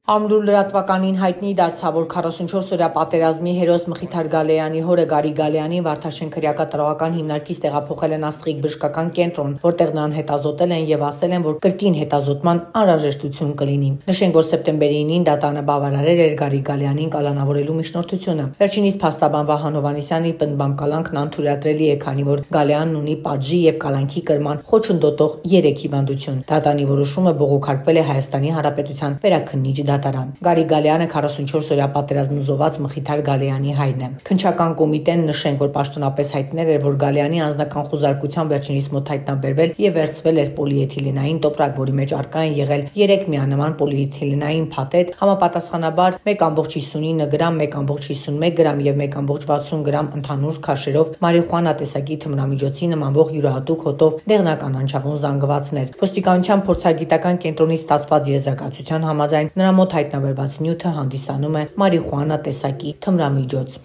Ամրու լրատվականին հայտնի դարձավ, որ 44-օրյա պատերազմի հերոս Մխիթար Գալեյանի հորը Գարի Գալեյանին Վարդաշեն քրեակատարողական հիմնարկից տեղափոխել են Աստղիկ բժշկական կենտրոն, որտեղ նրան հետազոտել են եւ ասել են, որ կրկին հետազոտման անհրաժեշտություն կլինի։ Նշենք, որ սեպտեմբերի 9-ին դատանը բավարարել էր Գարի Գալեյանին կալանավորելու միջնորդությունը։ Վերջինիս փաստաբան Վահան Հովհաննիսյանի պնդմամբ կալանքն անթույլատրելի է, քանի որ Գալեյանն ունի պատժի եւ կալանքի կրման խոչընդոտող 3 հիվանդություն։ Դատանի որոշումը բողոքարկվել է Հայաստանի Հանրապետության վերաքննիչ դատարան։ Գարի Գալեյանը 44-օրյա պատերազմում զոհված Մխիթար Գալեյանի հայրն է։ Քննչական կոմիտեն նշենք, որ պաշտոնապես հայտնել էր, որ Գալեյանի անձնական խուզարկությամբ վերջինիս մոտ հայտնաբերվել եւ վերցվել էր պոլիէթիլենային տոպրակ, որի մեջ առկա են եղել 3 միանման պոլիէթիլենային փաթեթ, համապատասխանաբար 1,59 գրամ, 1,51 գրամ եւ 1,60 գրամ ընդհանուր քաշերով մարիխուանա տեսակի թմրամիջոցի նմանվող յուրահատուկ հոտով դեղնական անչավուն զանգվածներ։ Ոստիկանության փորձագիտական կենտրոնից ստացված եզրակացության համաձայն նրա մոտ հայտնաբերված նյութը հանդիսանում է մարիխուանա տեսակի թմրամիջոց։